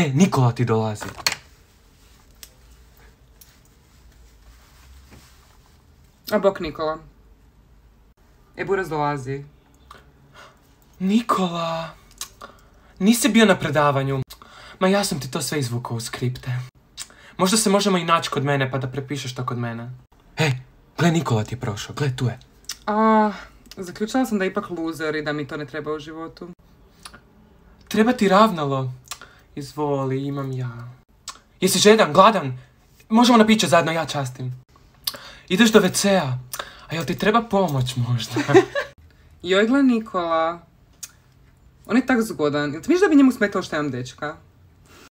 Nikola ti dolazi. A bok Nikola. Buraz dolazi. Nikola, nisi bio na predavanju. Ma ja sam ti to sve izvukao u skripte. Možda se možemo i naći kod mene pa da prepišeš to kod mene. Gle, Nikola ti je prošao, gle, tu je. Zaključila sam da je ipak luzer i da mi to ne treba u životu. Treba ti ravnalo. Izvoli, imam ja. Jesi žedan, gladan? Možemo na piće zajedno, ja častim. Ideš do WC-a. A jel ti treba pomoć možda? Joj, gle Nikola. On je tak zgodan. Jel ti misliš da bi njemu smetalo što imam dečka?